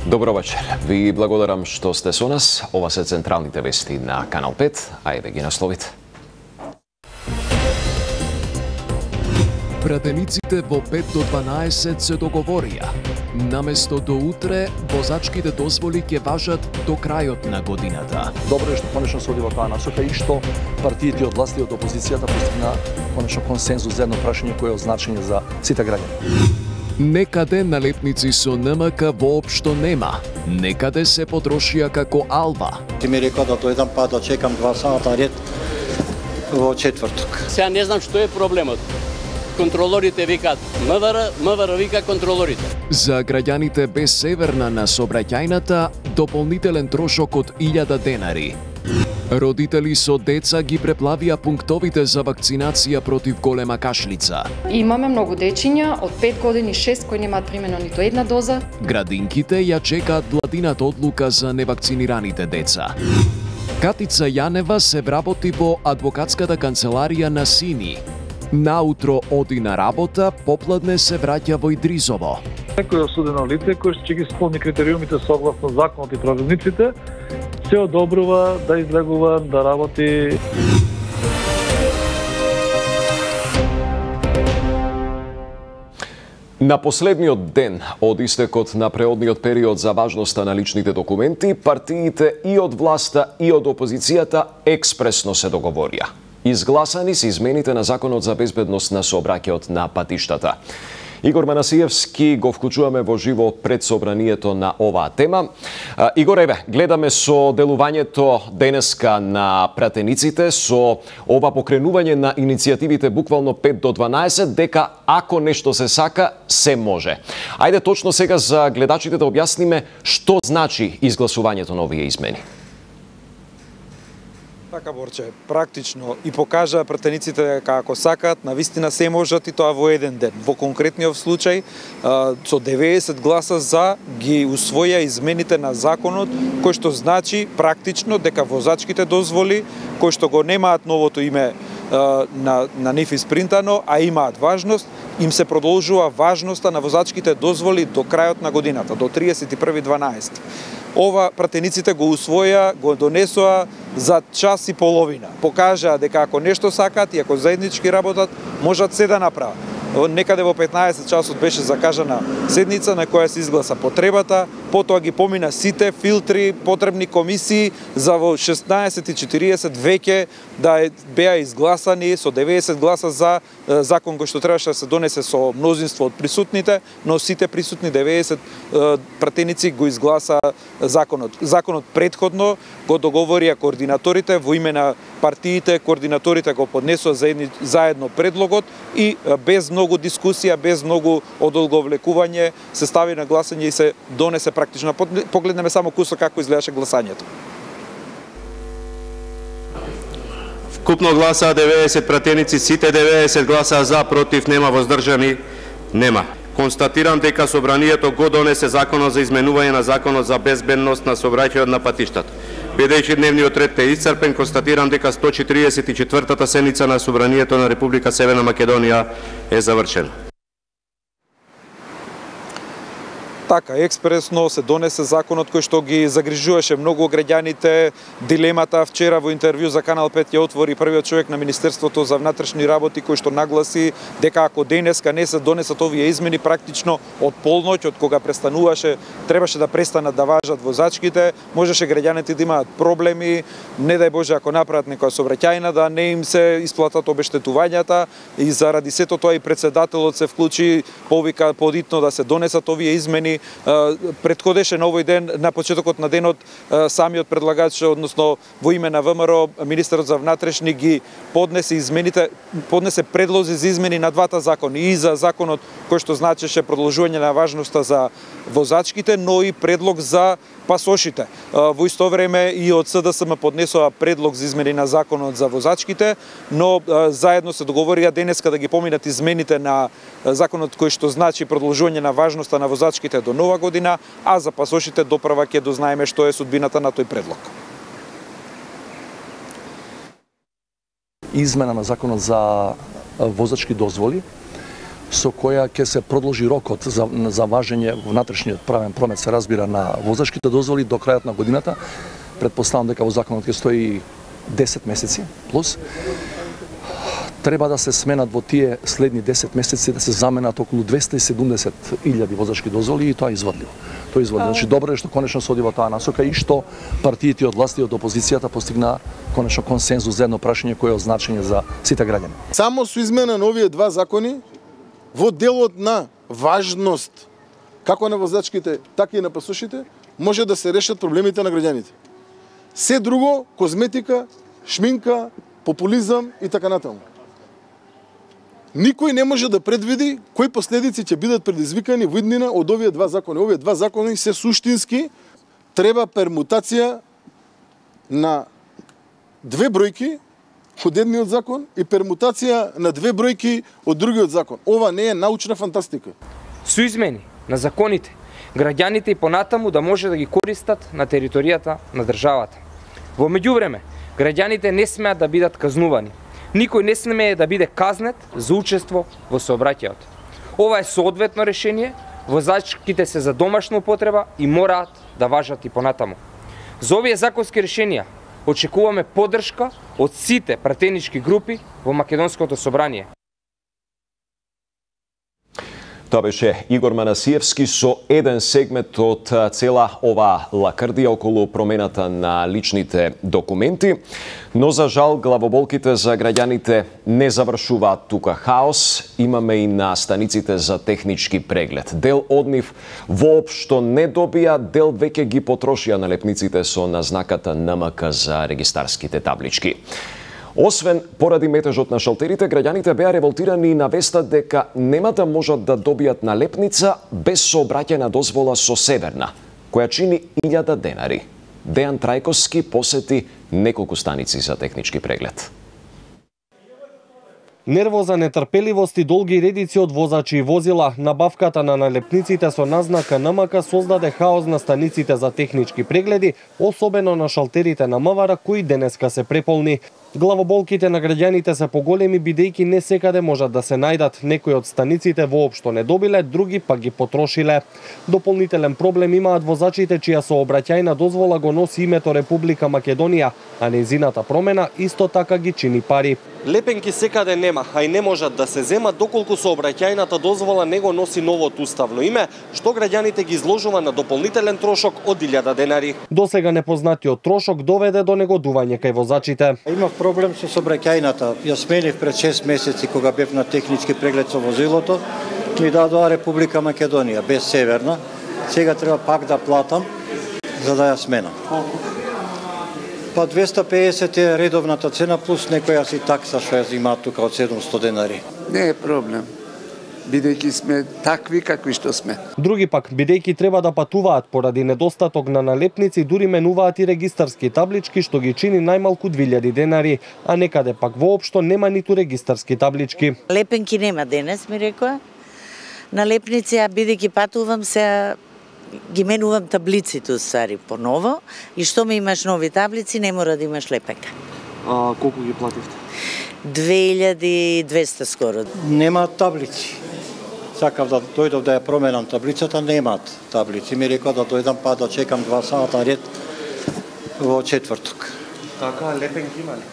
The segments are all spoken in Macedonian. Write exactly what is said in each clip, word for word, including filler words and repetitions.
Добро вечер. Ви благодарам што сте со нас. Ова се централните вести на Канал пет, а еве ги насловите. Пратениците во пет до дванаесет се договорија. Наместо до утре, возачките дозволи ќе важат до крајот на годината. Добро е што конечно се оди во таа насока и што партиите од власт и од опозицијата постигна конечно консензус за едно прашање кое е од значење за сите граѓани. Некаде налепници со Н М К воопшто нема. Некаде се потрошија како алва. Ти ми рекла да дојдам па да чекам два сата ред во четврток. Сега не знам што е проблемот. Контролорите викаат М В Р, М В Р вика контролорите. За граѓаните без северна на сообраќајната дополнителен трошок од илјада денари. Родители со деца ги преплавија пунктовите за вакцинација против голема кашлица. Имаме многу дечиња од пет години шест кои немаат примено ниту една доза. Градинките ја чекаат владината одлука за невакцинираните деца. Катица Јанева се вработи во адвокатската канцеларија на Сини. Наутро оди на работа, попладне се враќа во Идризово. Некој осудено лице кој ќе ги исполни критериумите согласно законот и правилниците, се одобрува да излегува, да работи. На последниот ден од истекот на преодниот период за важноста на личните документи, партиите и од власта и од опозицијата експресно се договорија. Изгласани се измените на Законот за безбедност на сообраќајот на патиштата. Игор Манасиевски го вклучуваме во живо пред собранието на оваа тема. Игор, еве, гледаме со делувањето денеска на пратениците, со ова покренување на иницијативите буквално пет до дванаесет, дека ако нешто се сака, се може. Ајде точно сега за гледачите да објасниме што значи изгласувањето на овие измени. Така, Борче, практично и покажа пратениците дека ако сакаат, навистина се можат и тоа во еден ден. Во конкретниот случај, со деветдесет гласа за ги усвоја измените на законот, кој што значи практично дека возачките дозволи, кои што го немаат новото име на, на нив испринтано, а имаат важност, им се продолжува важноста на возачките дозволи до крајот на годината, до триесет и први дванаесети. Ова пратениците го усвоја, го донесоа за час и половина. Покажаа дека ако нешто сакаат и ако заеднички работат, можат се да направат. Некаде во петнаесет часот беше закажана седница на која се изгласа потребата, потоа ги помина сите филтри, потребни комисии, за во шеснаесет и четириесет веќе да беа изгласани со деветдесет гласа за закон кој што требаше да се донесе со мнозинство од присутните, но сите присутни деветдесет пратеници го изгласа законот. Законот предходно го договорија координаторите во име на партиите, координаторите го поднесоа заедно предлогот и без многу дискусија, без многу одолговлекување се стави на гласање и се донесе практично. Погледнеме само кусок како изгледаше гласањето. Вкупно гласа деветдесет пратеници, сите деветдесет гласа за, против нема, воздржани нема. Констатирам дека собранието го донесе Законот за изменување на Законот за безбедност на сообраќајот на патиштата. Бидејќи дневниот ред е исцрпен, констатирам дека сто четириесет и четвртата седница на собранието на Република Северна Македонија е завршена. Така, експресно се донесе законот кој што ги загрижуваше многу граѓаните. Дилемата вчера во интервју за Канал пет ја отвори првиот човек на Министерството за внатрешни работи, кој што нагласи дека ако денеска не се донесат овие измени, практично од полноќ, од кога престануваше, требаше да престанат да важат возачките, можеше граѓаните да имаат проблеми, не дај Боже ако направат некоја сообраќајна да не им се исплатат обештетувањата, и заради сето тоа и председателот се вклучи, повика подитно да се донесат овие измени. Предходеше на овој ден, на почетокот на денот, самиот предлагач, односно во име на ВМРО, министерот за внатрешни ги поднесе измените, поднесе предлози за измени на двата закони, и за законот кој што значеше продолжување на важноста за возачките, но и предлог за пасошите. Во исто време и од С Д С М поднесоа предлог за измени на законот за возачките, но заедно се договорија денеска да ги поминат измените на законот кој што значи продолжување на важноста на возачките до нова година, а за пасошите доправа ќе дознаеме што е судбината на тој предлог. Измена на законот за возачки дозволи со која ќе се продолжи рокот за, за важење внатрешниот правен промет, се разбира, на возачките дозволи до крајот на годината. Предпоставам дека во законот ќе стои десет месеци плюс. Треба да се сменат во тие следни десет месеци, да се заменат околу двесте и седумдесет илјади возачки дозволи, и тоа е изводливо. Тоа е изводливо. Значи добро е што конечно се оди во таа насока и што партиите од власт и од опозицијата постигна конечно консензус за едно прашање кое е од значење за сите граѓани. Само со измена на овие два закони во делот на важност како на возачките, така и на пасошите може да се решат проблемите на граѓаните. Се друго козметика, шминка, популизам и така натаму. Никој не може да предвиди кои последици ќе бидат предизвикани во иднина од овие два закони. Овие два закони се суштински, треба пермутација на две бројки од едниот закон и пермутација на две бројки од другиот закон. Ова не е научна фантастика. Со измени на законите, граѓаните и понатаму да може да ги користат на територијата на државата. Во меѓувреме, граѓаните не смеат да бидат казнувани. Никој не смее да биде казнет за учество во сообраќајот. Ова е соодветно решение, возачките се за домашна употреба и мораат да важат и понатаму. За овие законски решенија очекуваме поддршка од сите пратенички групи во Македонското собрание. Тоа беше Игор Манасиевски со еден сегмент од цела ова лакрдија околу промената на личните документи. Но за жал главоболките за граѓаните не завршуваат тука. Хаос имаме и на станиците за технички преглед. Дел од нив воопшто не добија, дел веќе ги потрошија налепниците со назнаката Н М К за регистарските таблички. Освен поради метежот на шалтерите, граѓаните беа револтирани на веста дека нема да можат да добијат налепница без сообраќајна дозвола со Северна, која чини илјада денари. Дејан Трајковски посети неколку станици за технички преглед. Нервоза, нетрпеливост и долги редици од возачи и возила, набавката на налепниците со назнака Н М К создаде хаос на станиците за технички прегледи, особено на шалтерите на МВР кои денеска се преполни. Главоболките на граѓаните се поголеми бидејќи не секаде можат да се најдат. Некои од станиците воопшто не добиле, други пак ги потрошиле. Дополнителен проблем имаат возачите чија сообраќајна дозвола го носи името Република Македонија, а нејзината промена исто така ги чини пари. Лепенки секаде нема, а и не можат да се земат доколку сообраќајната дозвола не го носи новото уставно име, што граѓаните ги изложува на дополнителен трошок од илјада денари. Досега непознатиот трошок доведе до негодување кај возачите. Имав проблем со сообраќајната. Ја сменив пред шест месеци кога бев на технички преглед со возилото. Ми дадоа Република Македонија без Северна. Сега треба пак да платам за да ја сменам. Па двесте и педесет е редовната цена плюс некоја си такса што ја зимаат тука од седумстотини денари. Не е проблем, бидејќи сме такви какви што сме. Други пак, бидејќи треба да патуваат поради недостаток на налепници, дури менуваат и регистарски таблички што ги чини најмалку две илјади денари, а некаде пак воопшто нема ниту регистарски таблички. Лепенки нема денес, ми рекоа. Налепници, а бидејќи патувам се ги менувам таблиците уствари поново и што ме имаш нови таблици, не мора да имаш лепенка. А колку ги плативте? две илјади и двесте скоро. Немаат таблици. Сакав да дојдов да ја променам таблицата, немаат таблици. Ми рекоа да дојдам па да чекам два сата ред во четврток. Така, лепенки има ли?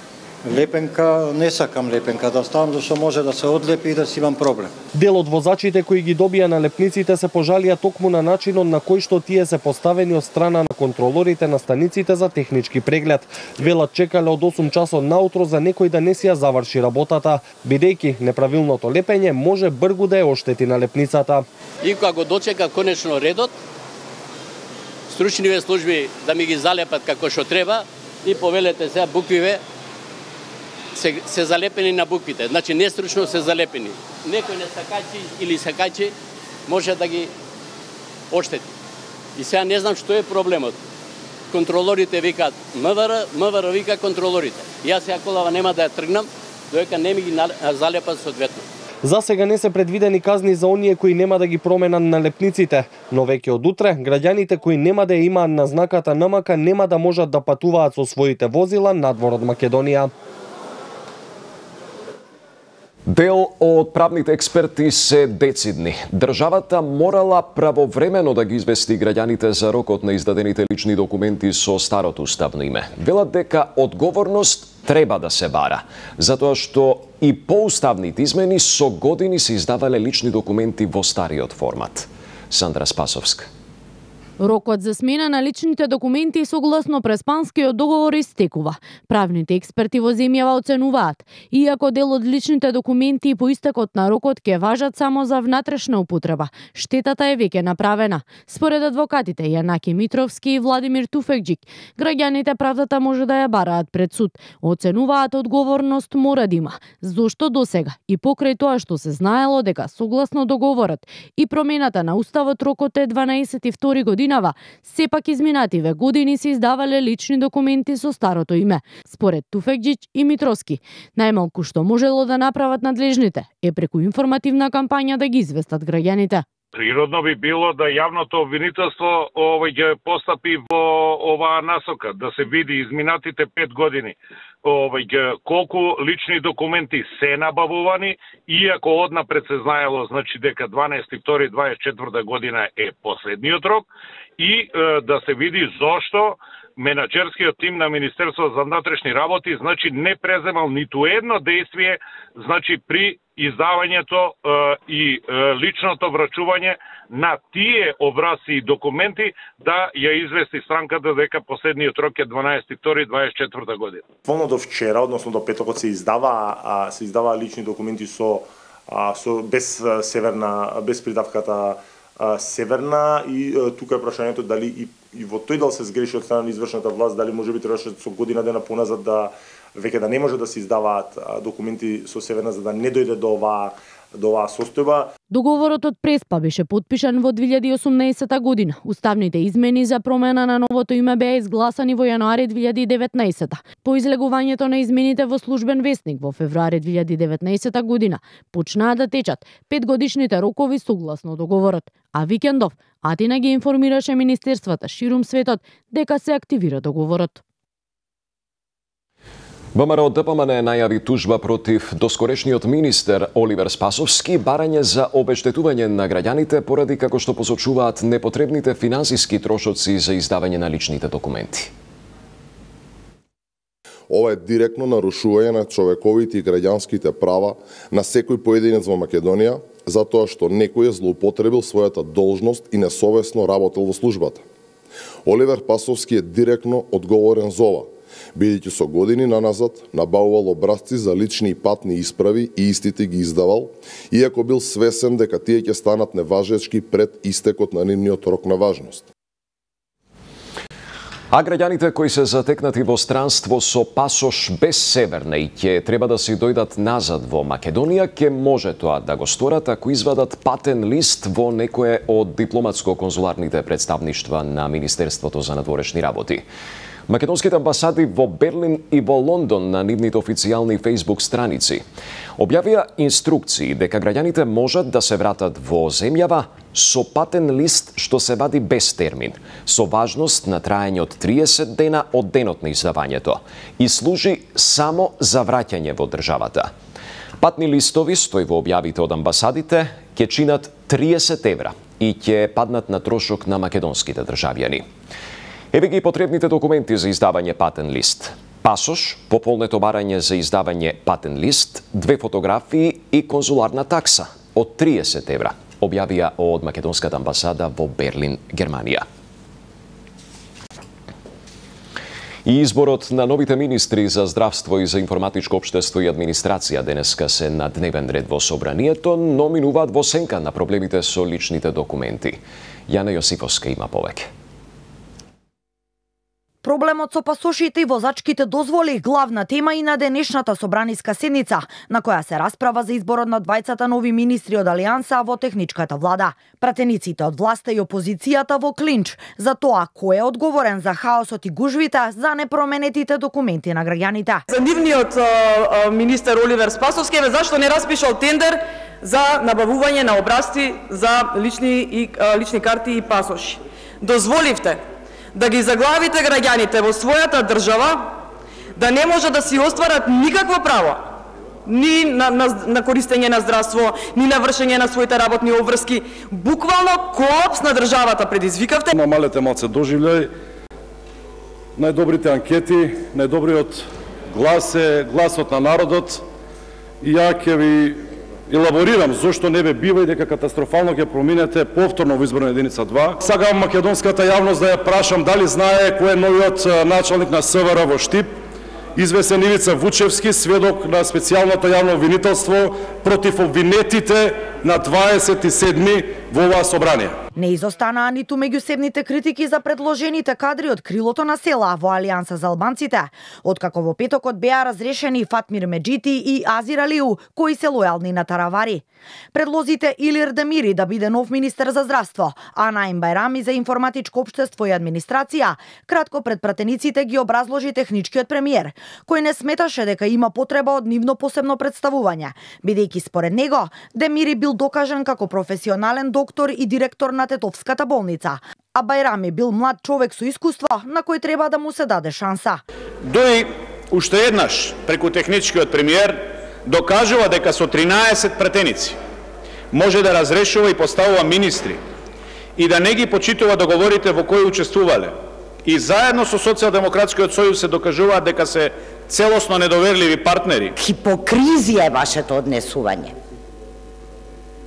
Лепенка, не сакам лепенка да ставам, зашто може да се одлепи и да си имам проблем. Дел од возачите кои ги добија налепниците се пожалија токму на начинот на кој што тие се поставени од страна на контролорите на станиците за технички преглед. Велат чекале од осум часот наутро за некој да не си ја заврши работата, бидејќи неправилното лепење може бргу да ја оштети налепницата. И кога го дочека конечно редот, стручниве служби да ми ги залепат како што треба и повелете сега буквиве Се, се залепени на буквите, значи не стручно се залепени. Некој не сакачи или сакачи може да ги оштети. И сега не знам што е проблемот. Контролорите викаат МВР, МВР вика контролорите. Јас сега колава нема да ја тргнам, додека не ми ги залепат соодветно. За сега не се предвидени казни за оние кои нема да ги променат налепниците, но веќе од утре граѓаните кои нема да ја имаат назнаката Н М К нема да можат да патуваат со своите возила надвор од Македонија. Дел од правните експерти се децидни. Државата морала правовремено да ги извести граѓаните за рокот на издадените лични документи со старото уставно име. Велат дека одговорност треба да се бара, затоа што и поуставните измени со години се издавале лични документи во стариот формат. Сандра Спасовска. Рокот за смена на личните документи согласно Преспанскиот договор истекува. Правните експерти во земјава оценуваат, иако дел од личните документи по истекот на рокот ќе важат само за внатрешна употреба, штетата е веќе направена. Според адвокатите Јанаки Митровски и Владимир Туфекџик, граѓаните правдата може да ја бараат пред суд. Оценуваат одговорност мора да има, зошто досега и покрај тоа што се знаело дека согласно договорот и промената на уставот рокот е дванаесет и втори година, сепак изминативе години се издавале лични документи со старото име. Според Туфекџич и Митровски, најмалку што можело да направат надлежните е преку информативна кампања да ги известат граѓаните. Природно би било да јавното обвинителство овој ќе постапи во оваа насока, да се види изминатите пет години овој колку лични документи се набавувани, иако однапред се знаело значи дека дванаесети втори дваесет и четврта година е последниот рок, и е, да се види зошто менаџерскиот тим на Министерството за внатрешни работи значи не преземал ниту едно действие значи при издавањето е, и е, личното врачување на тие образци и документи да ја извести странката дека последниот рок е дванаесети втори дваесет и четврта година. Полно до вчера, односно до петокот се издава а, се издава лични документи со а, со без северна без придавката а, северна, и а, тука е прашањето дали и, и во тој дел се сгреши од страна на извршната власт, дали може би требаше со година дена поназад да веќе да не може да се издаваат а, документи со северна за да не дојде до оваа до оваа состојба. Договорот од Преспа беше потпишан во две илјади и осумнаесета година. Уставните измени за промена на новото име беа изгласани во јануари две илјади и деветнаесета. По излегувањето на измените во Службен весник во февруари две илјади и деветнаесета година почнаа да течат петгодишните рокови согласно договорот, а викендов Атина ги информираше министерствата ширум светот дека се активира договорот. ВМРО Д П М Н најави тужба против доскорешниот министер Оливер Спасовски, барање за обештетување на граѓаните поради, како што посочуваат, непотребните финансиски трошоци за издавање на личните документи. Ова е директно нарушување на човековите и граѓанските права на секој поединец во Македонија, затоа што некој е злоупотребил својата должност и несовесно работел во службата. Оливер Спасовски е директно одговорен за ова, бидејќи со години наназад набавувал образци за лични и патни исправи и истите ги издавал, иако бил свесен дека тие ќе станат неважечки пред истекот на нивниот рок на важност. А граѓаните кои се затекнати во странство со пасош без северна и ќе треба да се дојдат назад во Македонија, ќе може тоа да го сторат ако извадат патен лист во некое од дипломатско-конзуларните представништва на Министерството за надворешни работи. Македонските амбасади во Берлин и во Лондон на нивните официјални Facebook страници објавија инструкции дека граѓаните можат да се вратат во земјава со патен лист што се вади без термин, со важност на траење од триесет дена од денот на издавањето и служи само за враќање во државата. Патни листови, стои во објавите од амбасадите, ќе чинат триесет евра и ќе паднат на трошок на македонските државјани. Еве ги потребните документи за издавање патен лист. Пасош, пополнето барање за издавање патен лист, две фотографии и конзуларна такса од триесет евра, објавија од Македонската амбасада во Берлин, Германија. И изборот на новите министри за здравство и за информатичко општество и администрација денеска се на дневен ред во собранието, но минуваат во сенка на проблемите со личните документи. Јана Јосифовска има повеќе. Проблемот со пасошите и возачките дозволи главна тема и на денешната собраниска седница, на која се расправа за изборот на двајцата нови министри од Алијанса во техничката влада. Пратениците од власта и опозицијата во клинч за тоа кој е одговорен за хаосот и гужвите за непроменетите документи на граѓаните. За нивниот uh, министер Оливер Спасовски, зашто не распишал тендер за набавување на образци за лични и uh, лични карти и пасоши. Дозволивте да ги заглавите граѓаните во својата држава, да не може да си остварат никакво право ни на, на, на користење на здравство, ни на вршење на своите работни обврски. Буквално колапс на државата предизвикавте. На малете малце доживљај, најдобрите анкети, најдобриот глас е гласот на народот и ја ќе ви елаборирам зошто не бе бива и дека катастрофално ќе проминете повторно во изборна единица два. Сакам македонската јавност да ја прашам дали знае кој е новиот началник на СВР во Штип, извесен Ивица Вучевски, сведок на специјалното јавно обвинителство против обвинетите на дваесет и седми во оваа собрание. Не изостанаа ниту меѓусебните критики за предложените кадри од крилото на села во Алијанса за албанците, откако во петокот беа разрешени Фатмир Меджити и Азир Алиу, кои се лојални на Таравари. Предлозите Илир Демири да биде нов министер за здравство, а Наим Бајрами за информатичко општество и администрација, кратко пред пратениците ги образложи техничкиот премиер, кој не сметаше дека има потреба од нивно посебно представување, бидејќи според него Демири бил докажан како професионален доктор и директор на Тетовската болница, а Бајрами бил млад човек со искуство на кој треба да му се даде шанса. Дој уште еднаш преку техничкиот премиер докажува дека со тринаесет пратеници може да разрешува и поставува министри и да не ги почитува договорите во кои учествувале. И заедно со Социјалдемократскиот сојуз се докажуваат дека се целосно недоверливи партнери. Хипокризија е вашето однесување.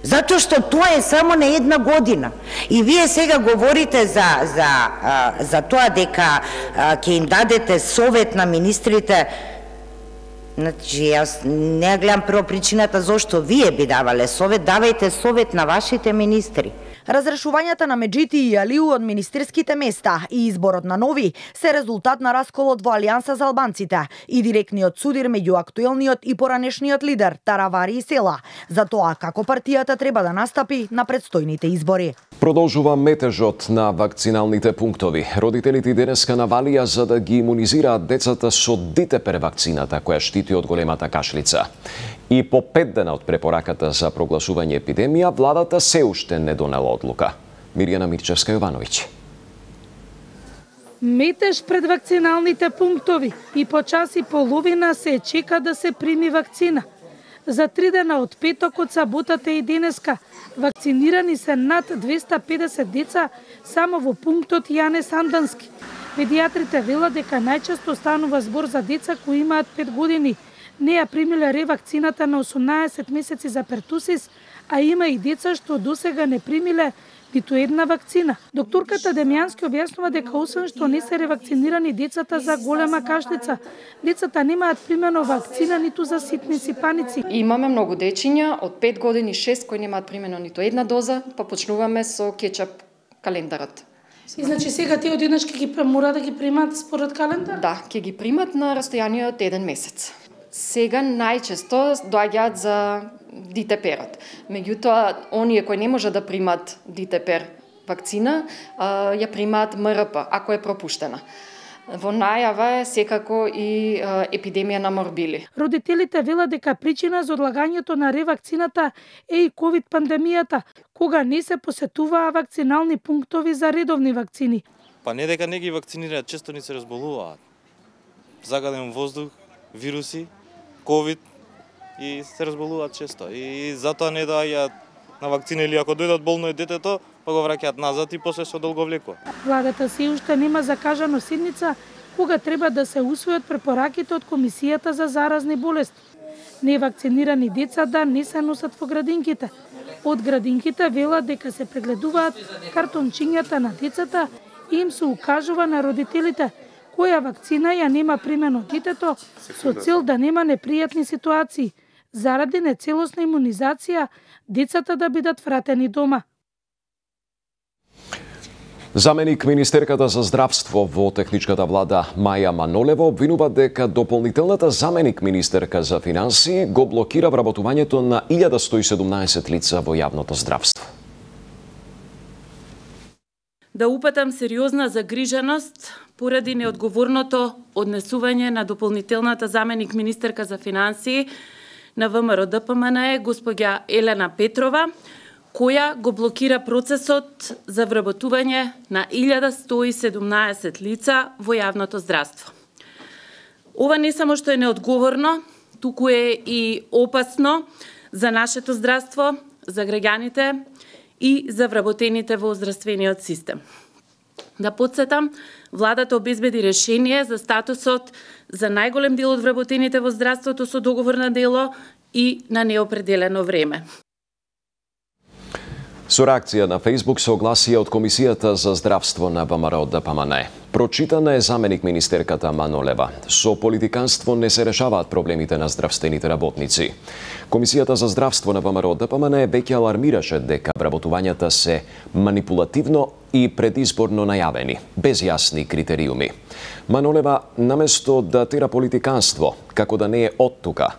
Затоа што тоа е само на една година. И вие сега говорите за, за, а, за тоа дека ќе им дадете совет на министрите. Значи, јас не гледам прво причината зошто вие би давале совет, давајте совет на вашите министри. Разрешувањата на Меджити и Алиу од министерските места и изборот на нови се резултат на расколот во Алијанса за албанците и директниот судир меѓу актуелниот и поранешниот лидер Таравари и Села за тоа како партијата треба да настапи на предстојните избори. Продолжува метежот на вакциналните пунктови. Родителите денеска навалија за да ги имунизираат децата со Дитепер вакцината која штити од големата кашлица. И по пет дена од препораката за прогласување епидемија, владата се уште не донела одлука. Мирјана Мирчевска-Јовановиќ. Метеж пред вакциналните пунктови и по час и половина се чека да се прими вакцина. За три дена од петокот, саботата и денеска вакцинирани се над двесте и педесет деца само во пунктот Јане Сандански. Педиатрите велат дека најчесто станува збор за деца кои имаат пет години, не ја примиле ревакцината на осумнаесет месеци за пертусис, а има и деца што досега не примиле ниту една вакцина. Докторката Демјански објаснува дека освен што не се ревакцинирани децата за голема кашлица, децата немаат примено вакцина ниту за ситници паници. Имаме многу дечиња од пет години шест кои немаат примено ниту една доза, па почнуваме со кетчап календарот. И значи сега тие одеднаш ќе ги мора да ги примат според календар? Да, ќе ги примат на растојание од еден месец. Сега најчесто доаѓаат за Дитеперот. Меѓутоа, оние кои не може да примат Дитепер вакцина, ја примаат М Р П, ако е пропуштена. Во најава е секако и епидемија на морбили. Родителите велат дека причина за одлагањето на ревакцината е и ковид пандемијата, кога не се посетуваа вакцинални пунктови за редовни вакцини. Па не дека не ги вакцинираат, често ни се разболуваат. Загаден воздух, вируси, ковид и се разболуваат често. И затоа не доаѓаат на вакцина или ако дојдат болно е детето, па го враќаат назад и после се долго влекува. Владата се уште нема закажано седница кога треба да се усвојат препораките од Комисијата за заразни болести. Невакцинирани деца да не се носат во градинките. Од градинките велат дека се прегледуваат картончињата на децата и им се укажува на родителите која вакцина ја нема примено детето со цел да нема непријатни ситуации, заради нецелосна имунизација, децата да бидат вратени дома. Заменик министерката за здравство во техничката влада Маја Манолева обвинува дека дополнителната заменик министерка за финансии го блокира вработувањето на илјада сто и седумнаесет лица во јавното здравство. Да упатам сериозна загриженост поради неодговорното однесување на дополнителната заменик министерка за финансии на В М Р Д П М Н Е, госпоѓа Елена Петрова, која го блокира процесот за вработување на илјада сто и седумнаесет лица во јавното здравство. Ова не само што е неодговорно, туку е и опасно за нашето здравство, за граѓаните и за вработените во здравствениот систем. Да подсетам, владата обезбеди решение за статусот за најголем дел од вработените во здравството со договор на дело и на неопределено време. Со реакција на Facebook се огласија од Комисијата за здравство на ВМРО Д П М Н. Прочитана е заменик министерката Манолева. Со политиканство не се решаваат проблемите на здравствените работници. Комисијата за здравство на ВМРО Д П М Н веќе алармираше дека вработувањата се манипулативно и предизборно најавени, без јасни критериуми. Манолева, наместо да тера политиканство, како да не е оттука,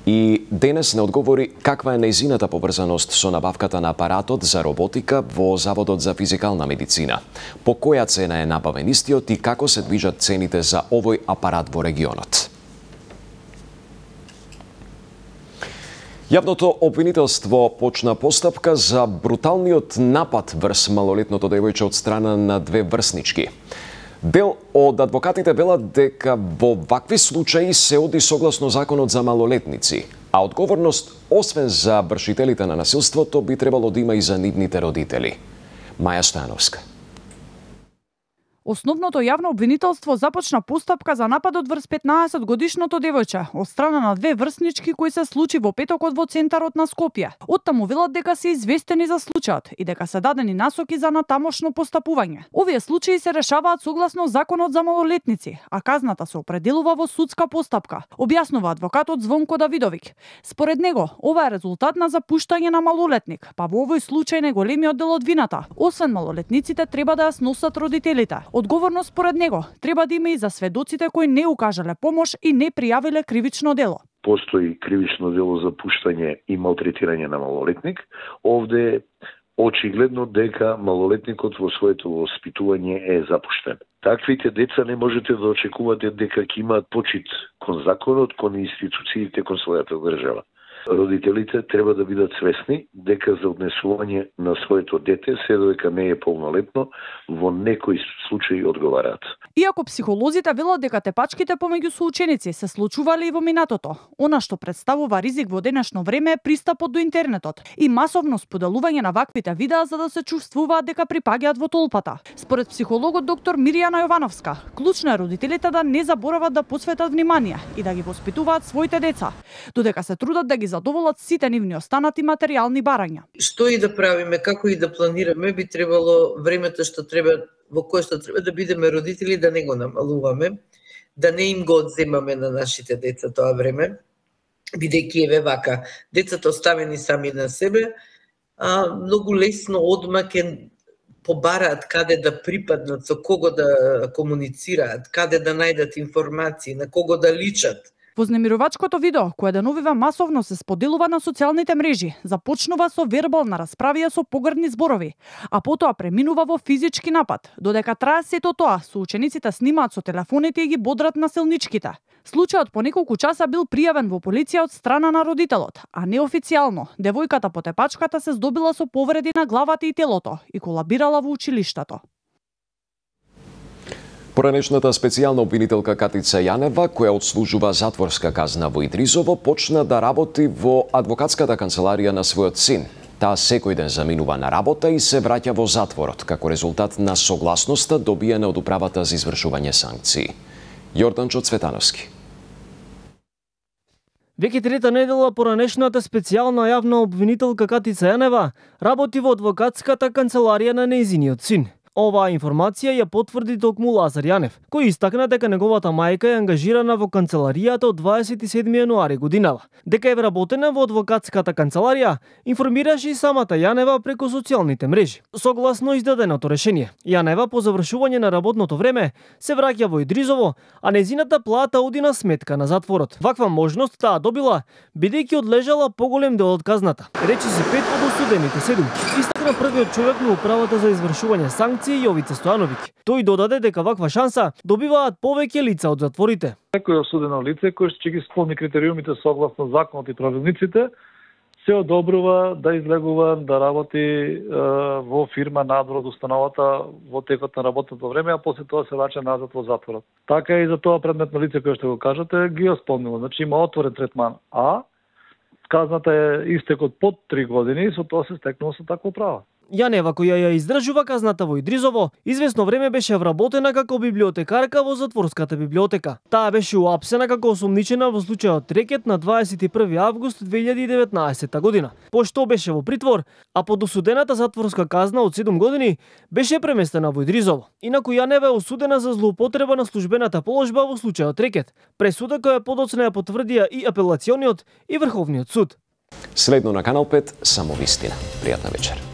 и денес не одговори каква е нејзината поврзаност со набавката на апаратот за роботика во Заводот за физикална медицина. По која цена е набавен истиот и како се движат цените за овој апарат во регионот. Јавното обвинителство почна постапка за бруталниот напад врз малолетното девојче од страна на две врснички. Дел од адвокатите велат дека во вакви случаи се оди согласно законот за малолетници, а одговорност, освен за вршителите на насилството, би требало да има и за нивните родители. Маја Стојановска. Основното јавно обвинителство започна постапка за нападот врз петнаесет годишното девојче од страна на две врснички кои се случи во петокот во центарот на Скопје. Оттаму велат дека се известени за случајот и дека се дадени насоки за натамошно постапување. Овие случаи се решаваат согласно законот за малолетници, а казната се определува во судска постапка, објаснува адвокатот Звонко Давидовик. Според него, ова е резултат на запуштање на малолетник, па во овој случај неголемиот дел од вината, освен малолетниците, треба да ја сносат родителите. Одговорност според него треба да има и за сведоците кои не укажале помош и не пријавиле кривично дело. Постои кривично дело за пуштање и малтретирање на малолетник. Овде очигледно дека малолетникот во своето воспитување е запуштен. Таквите деца не можете да очекувате дека ќе имаат почит кон законот, кон институциите, кон својата држава. Родителите треба да бидат свесни дека за однесување на своето дете, се додека не е полнолетно, во некои случаи одговараат. Иако психолозите велат дека тепачките помеѓу соученици се случувале и во минатото, она што представува ризик во денешно време е пристапот до интернетот и масовно споделување на ваквите видеа за да се чувствуваат дека припаѓаат во толпата. Според психологот доктор Мирјана Јовановска, клучно е родителите да не заборават да посветат внимание и да ги воспитуваат своите деца, додека се трудат да ги задоволат сите нивни останати материјални барања. Што и да правиме, како и да планираме, би требало времето што треба во кое што треба да бидеме родители да не го намалуваме, да не им го одземаме на нашите деца тоа време, бидејќи еве вака, децата оставени сами на себе, а многу лесно одма ќе побараат каде да припаднат, со кого да комуницираат, каде да најдат информации, на кого да личат. Вознемирувачкото видео, кое деновива масовно се споделува на социјалните мрежи, започнува со вербална расправија со погрдни зборови, а потоа преминува во физички напад. Додека трае сето тоа, соучениците снимаат со телефоните и ги бодрат насилничките. Случајот по неколку часа бил пријавен во полиција од страна на родителот, а неофицијално девојката по тепачката се здобила со повреди на главата и телото и колабирала во училиштето. Поранешната специјална обвинителка Катица Јанева, која отслужува затворска казна во Идризово, почна да работи во адвокатската канцеларија на својот син. Таа секој ден заминува на работа и се враќа во затворот, како резултат на согласноста добиена од управата за извршување санкции. Јорданчо Цветановски. Веќе трета недела поранешната специјална јавна обвинителка Катица Јанева работи во адвокатската канцеларија на нејзиниот син. Оваа информација ја потврди токму Лазар Јанев, кој истакна дека неговата мајка е ангажирана во канцеларијата од дваесет и седми јануари годинава. Дека е вработена во адвокатската канцеларија, информираше и самата Јанева преку социјалните мрежи. Согласно издаденото решение, Јанева по завршување на работното време се враќа во Идризово, а незината плата оди на сметка на затворот. Ваква можност таа добила бидејќи одлежала поголем дел од казната. Речи се пет од осудените седум. Истакна првиот човек на управата за извршување санкции Јовица Стојановиќ. Тој додаде дека ваква шанса добиваат повеќе лица од затворите. Некој осудено лице кој ќе ги исполни критериумите согласно законот и правилниците, се одобрува да излегува да работи е, во фирма надвор од установата во текот на работното време, а после тоа се враќа назад во затворот. Така и за тоа предметно лице кој што го кажате ги исполнило. Значи има отворен третман, а казната е истекот под три години и со тоа се стекнува со такво право. Јанева, која ја издржува казната во Идризово, извесно време беше вработена како библиотекарка во затворската библиотека. Таа беше уапсена како осомничена во случајот Рекет на дваесет и први август две илјади и деветнаесетта година. Пошто беше во притвор, а под осудената затворска казна од седум години беше преместена во Идризово. Инаку Јанева е осудена за злоупотреба на службената положба во случајот Рекет. Пресуда која подоцна ја потврдија и апелациониот и Врховниот суд. Следно на Канал пет, само вистина. Пријатна вечер.